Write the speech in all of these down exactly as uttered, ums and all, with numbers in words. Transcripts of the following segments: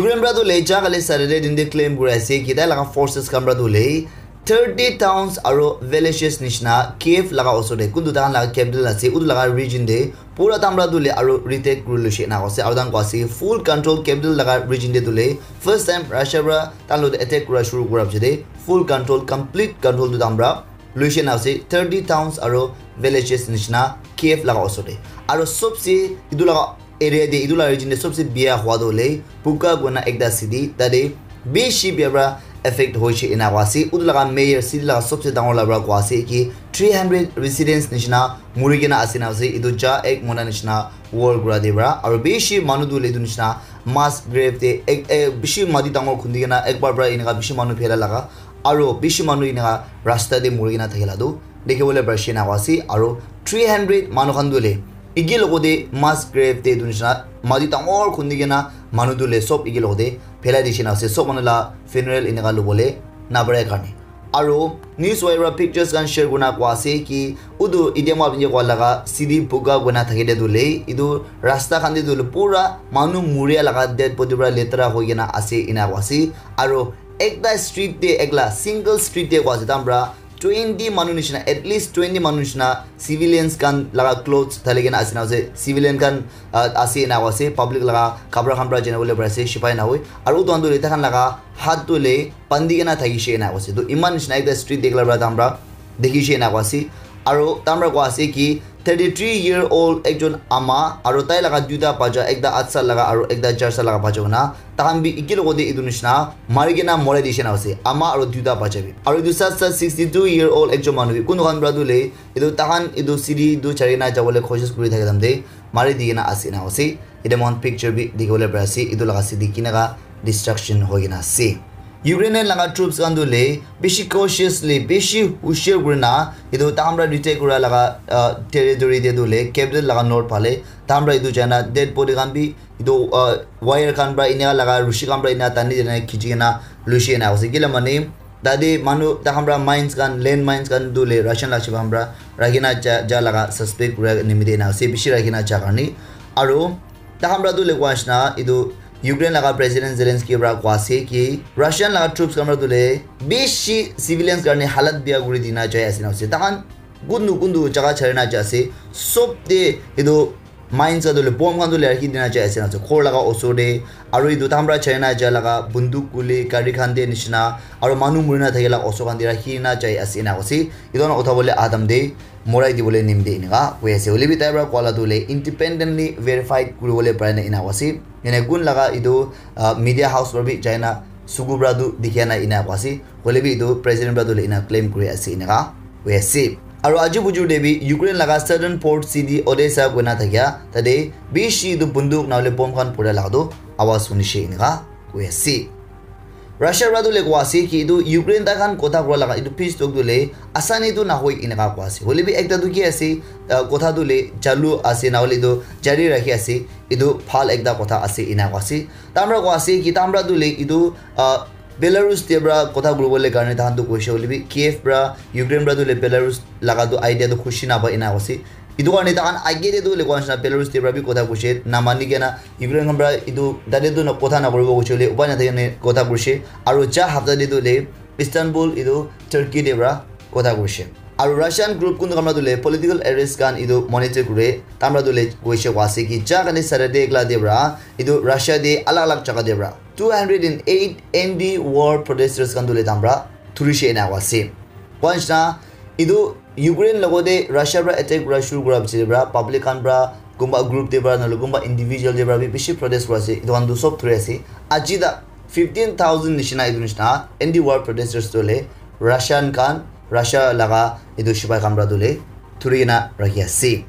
Ukraine pra tu le ja kali Saturday din de claim kuri ase ki tai laga forces khan pra tu le thirty towns aro villages nishina Kiev laga osor de kuntu tahan laga capital ase utu laga region de pura tamra tu le aro retake kuri luishe ena ase aro tahan kwa ase full control capital laga region de tu le first time Russia pra tahan lo de attack kura shuru kura piche de full control complete control tu tamra luishe ena ase thirty towns aro villages nishina Kiev laga osor de aro sobse etu laga area de etu la region de sobse bia hua tu le Bucha koina ekta city tade bishi bia pra affect hoishe ena kwa ase utu laga mayor city laga sobse dangor la pra kwa ase ki three hundred residents nishina muri kena ase na ase etu ja ek mona nishina war kura de pra aro bishi manu tu le etu nishina mass grave de ek, ek bishi mati dangor khundi kena ekbar pra eneka bishi manu phela laga aro bishi manu eneka rasta de muri kena thakila tu dikhi bole parishe ena kwa ase aro three hundred manu khan tu le eki logo de mass grave de etu nishina mati dangor khundi kena manu tu le sob eki logo de phelai dishe na ase sob manu la funeral eneka lobole na pare karne aro news wire pra pictures khan share kurina kwa ase ki utu etia moi apni kwa laga city Bucha koina thaki de tu le etu rasta khan de tu le pura manu muria laga dead body pra letera hoi kena ase ena kwa ase aro ekta street de ekla single street de kwa ase tamra twenty manu nishina at least twenty manu nishina civilians khan laga clothes thali kena ase na ase civilian khan uh, ase na ase public laga kapra khan pra jana bole pare ase sipai na hoi aru utu khan tu le takhan laga hat tu le bandi kena thakishe na ase tu iman nishina ekta street de ekla pra tamra dikhishe na ase aru tamra kwa ase ki thirty-three year old ekjon ama aru tai laga duita bacha ekta aat sal laga aru ekta char sal laga bacha kena takhan bi eki logote etu nishina mari kena morai dishe na ase ama aru duita bacha bi aru etu sat sat sixty-two year old ekjon manu bi kunu khan pra tu le etu takhan etu city tu chari na jabole koshish kuri thaka time te mari di kena ase na ase ete moikhan picture bi dikhi bole pari ase etu laga city kinaka destruction hoi kena ase. Ukrainian laga troops khan tu le bishi cautiously bishi hushar kurina etu takhan pra retake kura laga uh, territory te tu le capital laga north phale takhan pra etu jaina dead body khan bi etu uh, wire khan pra enia laga rushi khan pra enia tani jana khichi kena lushi ena ase kila mane tate manu takhan pra mines khan land mines khan tu le Russian la shiba khan pra rakhi na ja, ja laga suspect kura nimite ena ase bishi rakhi na ja karne aru takhan pra tu le kwa nishina etu Ukraine laga president Zelensky pra kwa ase ki Russian laga troops khan pra tu le bishi civilians karne halat bia kuri dina jai ase na ase takhan kundu kundu jaga chari na ja ase sob te etu mines khan tu le bomb khan tu le rakhi dina jai ase na ase ghor laga osor te aru etu takhan pra chari na ja laga bunduk kuli gari khan te nishina aru manu muri na thaki la osor khan te rakhi na jai ase na ase etu khan utha bole adam te morai dibole nimite enika koi ase hoilebi tai para koa la tu hoile independently verified kuribole parai na ena koa ase ene kun laga etu ah, media house para bi jaina suku para tu dikhia na ena koa ase hoilebi etu president para tu hoile ena claim kuri ase eneka koi ase aru aji bujur te bi Ukraine laga southern port city Odessa koina thakia tate bishi etu bunduk na hoile bomb khan phuria laga tu awaz hunishe eneka koi ase. Russia para tu le koa ase ki etu Ukraine tai khan kotha kura laga etu peace talk tu le asani tu nahoi eneka koa ase hoile bi ekta tu ki ase ah, kotha tu le chalu ase na hoile tu jari rakhi ase etu bhal ekta kotha ase ena koa ase tai para koa ase ki tai para tu le etu ah, Belarus te para kotha kuribole karne tai khan tu koise hoile bi Kiev para Ukraine para tu le Belarus laga tu idea tu khushi napai ena koa ase. Etu karne tai khan age te tu hoile koa nishina Belarus te para bi kotha koise namani kena Ukraine khan para etu tate tu kotha nakuribo koise hoile upai nathaki kena kotha korise aru ja hapta te tu hoile Istanbul etu Turkey te para kotha korise aru Russian group kuntu khan para tu hoile political arrest khan etu monitor kure tai para tu hoile koise koa ase ki ja kali Saturday ekla te para etu Russia te alag alag jaga te para two hundred and eight anti war protesters khan tu hoile tai para thurise ena koa ase. Koa nishina etu Ukraine logote Russia para attack kura shuru kura piche para public khan para kunba group te para nahole kunba individual te para bi bishi protest kura ase etu khan tu sob thuri ase aji tak fifteen thousand nishina etu nishina anti war protesters tu hoile Russian khan Russia laga etu sipai khan para tu hoile thuri kena rakhi ase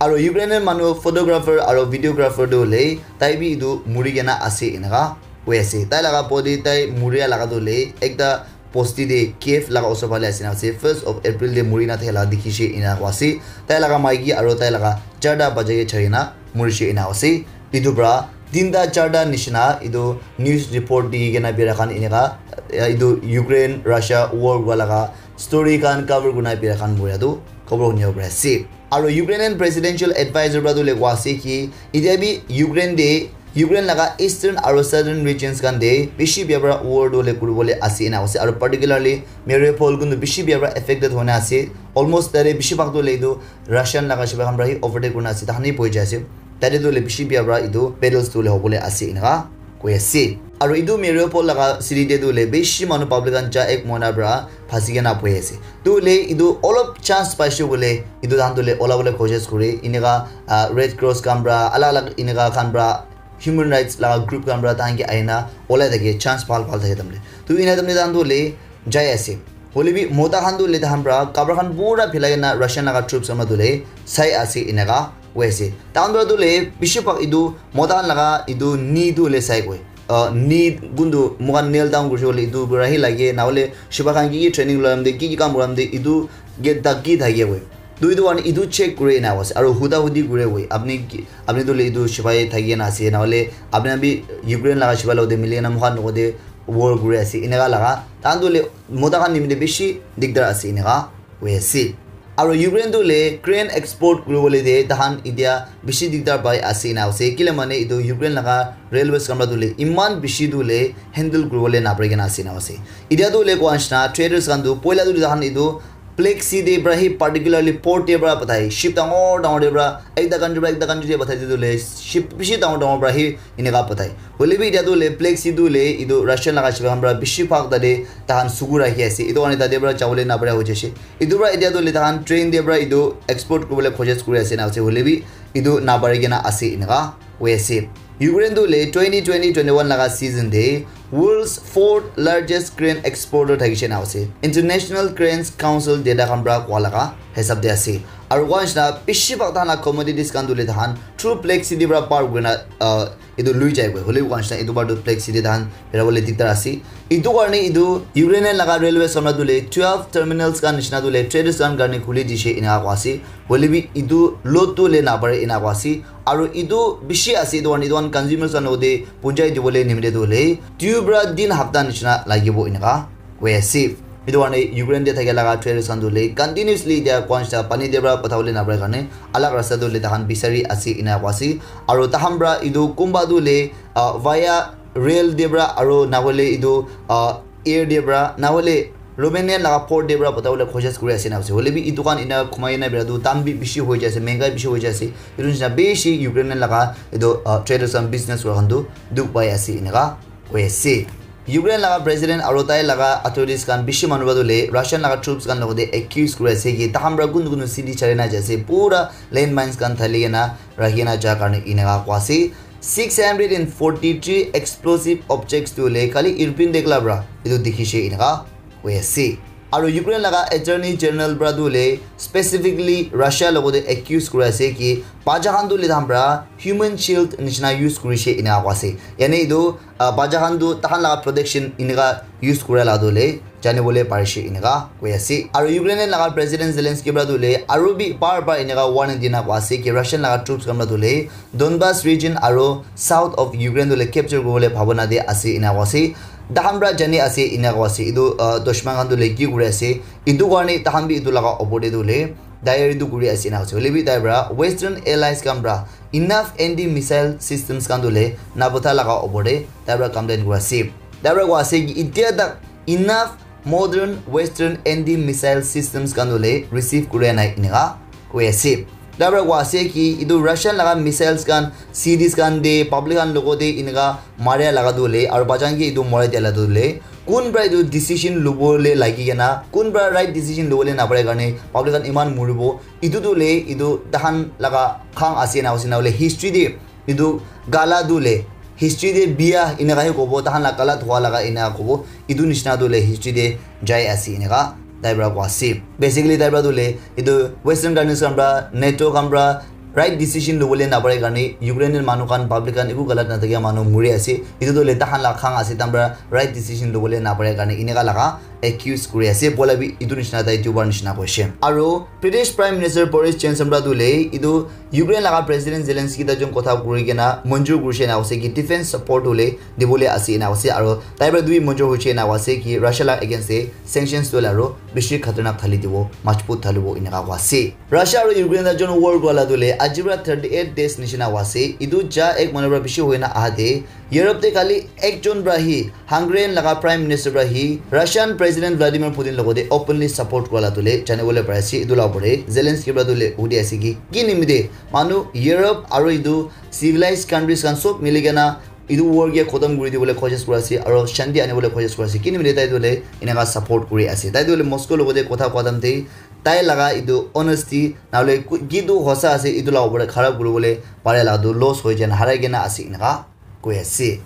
aru Ukrainian manu photographer aru videographer tu hoile tai bi etu muri kena ase eneka koi ase tai laga body tai muria laga tu hoile ekta bosti te Kiev laga osor phale ase na ase first of April te muri na thaka la dikhi she ena koa ase tai laga maiki aru tai laga charta bacha ke chari na muri she ena ase etu para tinta charta nishina etu news report dikhi kena bera khan eneka etu Ukraine Russia war hua laga story khan cover kurina bera khan muria tu khobor hunibo pari ase aru Ukrainian presidential advisor para tu hoile koa ase ki etia bi Ukraine te Ukraine laga eastern aro southern regions khan te bishi bia para war tu le kuribole ase ena ase, aro particularly Mariupol kun tu bishi bia para affected hona ase. Almost tare bishi bhag tu le etu Russian laga shiba khan para hi overtake kurina ase, tahan hi boi jai ase. Tare tu le bishi bia para etu battles tu le hobole ase enaka koi ase. Aro etu Mariupol laga city te tu le bishi manu public khan cha ek mohina para phasi kena boi ase. Tu le etu olop chance paise bole etu tahan tu le ola bole koshish kore, enaka, ah, Red Cross khan para, alag alag enaka khan para, human rights laga group khan para tahan ke ahina olai thake, chance bhal bhal thake tamle. Tu ena tamle tahan tu le jai ase. Hoile bi mota khan tu le tahan para kapra khan pura philai kena Russian laga troops khan para tu le sai ase enaka koi ase. Tahan para tu le bishi bhag etu mota khan laga etu knee tu le sai koi. Ah, knee kun tu moikhan kneel down kurishe koile etu para hi lage, nahole shiba khan ki ki training loiram de, ki ki kam kuram de, etu ke dak ki thake koi. Tu etu karne etu check kure ena ase, aro huda hudi kure koi. Apni ki, apni tu le etu shibai thaki na ase, nahole apni bi Ukraine laga shibai logote mili kena moikhan logote war kuri ase, enaka laga. Tahan tu le mota khan nimite bishi digdar ase, enaka hoi ase. Aro Ukraine tu le grain export kuribole de tahan etia bishi digdar pai ase ena ase. Kile mane etu Ukraine laga railways khan para tu le iman bishi tu le handle kuribole napari kena ase ena ase. Etia tu le koa nishina traders khan tu poila tu le tahan etu Black Sea te para hi particularly port te para pathai, ship dangor dangor te para ekta country para ekta country te pathai tu le ship bishi dangor dangor para hi enaka pathai. Hoile bi etia tu le Black Sea tu le etu Russian laga shiba khan para bishi bhag tate tahan suku rakhi ase. Etu karne tate para jabole napara hoi jaise. Etu para etia tu le tahan train te para etu export kuribole koshish kuri ase na ase. Hoile bi etu napari kena ase enaka hoi ase. Ukraine tu le twenty twenty twenty-one laga season te world's fourth largest grain exporter thakishe na ase. International Grains Council data khan para koa laga hisab te ase. Aro koa nishina bishi bhag tahan la commodities khan tu le tahan through Black Sea te para par kurina, ah, etu lui jai koi. Hoile bi koa nishina etu para tu Black Sea te tahan bera bole dikdar ase. Etu karne etu Ukrainian laga railway samra tu le twelve terminals khan nishina tu le traders khan karne khuli dishe enaka koa ase. Hoile bi etu load tu le napare enaka koa ase. Aro etu bishi ase, etu karne etu khan consumers khan logote punjai dibole nimite tu le dui para tin hapta nishina lagibo enaka koi ase. Etu karne Ukraine te thakia laga traders khan tu le continuously etia koa nishina pani te para patha bole napare karne alag rasta tu le tahan bisari ase enaka koa ase. Aro tahan para etu kunba tu le, ah, via rail te para aro nahole etu, ah, air te para nahole Romania laga port te para patha bole koshish kuri ase na ase. Hoile bi etu khan ena khumai na bera tu dam bi bishi hoi jai ase, mengai bishi hoi jai ase. Etu nishina bishi Ukraine laga etu, ah, traders khan business kura khan tu dukh pai ase enaka koi ase. Ukraine laga president aro tai laga authorities khan bishi manu para tu le Russian laga troops khan logote accuse kuri ase ki tahan para kun kun city chari na jai ase, pura landmines khan thali kena rakhi kena ja karne enaka koa ase. Six hundred and forty-three explosive objects tu le khali Irpin dekla para etu dikhishe enaka koi ase. Aro Ukraine laga Attorney General para tu le specifically Russia logote accuse kuri ase ki bacha khan tu le tahan para human shield nishina use kurishe enaka koa ase. Yane etu, ah, bacha khan tu tahan laga protection enaka use kura la tu le jani bole parishe enaka koi ase. Aro Ukraine laga President Zelensky para tu le aro bi bar bar enaka warning dina koa ase ki Russian laga troops khan para tu le Donbas region aro south of Ukraine tu le capture kuribole bhabona te ase enaka koa ase. Tahan para jani ase enaka koa ase. Etu, ah, dushman khan tu le ki kuri ase. Etu karne tahan bi etu laga opor te tu le tayari tu kuri ase enaka ase. Hoile bi tai para Western allies khan para enough anti missile systems khan tu le napatha laga opor te tai para complain kuri ase. Tai para koa ase ki etia tak enough modern Western anti missile systems khan tu le receive kuri nai enaka koi ase. Tai para koa ase ki etu Russian laga missiles khan cities khan te public khan logote enaka maria laga tu le aro bacha khan ke etu morai dia la tu le kun para etu decision lobole lagi kena, kun para right decision lobole napare karne public khan iman moribo, etu tu le etu tahan laga khang ase na ase nahole history te etu gala tu le history te bia enaka he kobo, tahan la galat hua laga enaka kobo, etu nishina tu le history te jai ase enaka tai para koa ase. Basically tai para tu le etu Western countries khan para, NATO khan para right decision lobole napare karne Ukrainian manu khan, public khan eku galat nathakia manu mori ase. Etu tu le tahan la khang ase, tahan para right decision lobole napare karne enaka laga accuse kuri ase, bola bi etu nishina tai dubar nishina koise. Aro British Prime Minister Boris Johnson pra tu le etu Ukraine laga President Zelensky ta jon kotha kuri kena manjur kurise ena koise ki defense support hole dibole ase ena koise, aro tai pra tu bi manjur hoise ena koise ki Russia la against te sanctions tu le aro bishi khatarnak thali dibo, majbut thalibo eneka koa ase. Russia aro Ukraine ta jon war kura la tu le aji pra thirty eight days nishina koa ase. Etu ja ek manu pra bishi hoina aha te Europe te khali ekjon pra hi Hungarian laga Prime Minister pra hi Russian President Vladimir Putin logote openly support kura la tu le jani bole pare ase. Etu la opor te Zelensky pra tu le hudi ase ki ki nimite manu Europe aro etu civilized countries khan sob mili kena etu war ke khotom kuri dibole koshish kuri ase aro shanti ani bole koshish kuri ase. Ki nimite tai tu le eneka support kuri ase. Tai tu le Moscow logote kotha koa time te tai laga etu honesty na hole ku- ki tu hosa ase etu la opor te khara kuri bole pare la tu loss hoi jana harai kena ase eneka koi ase.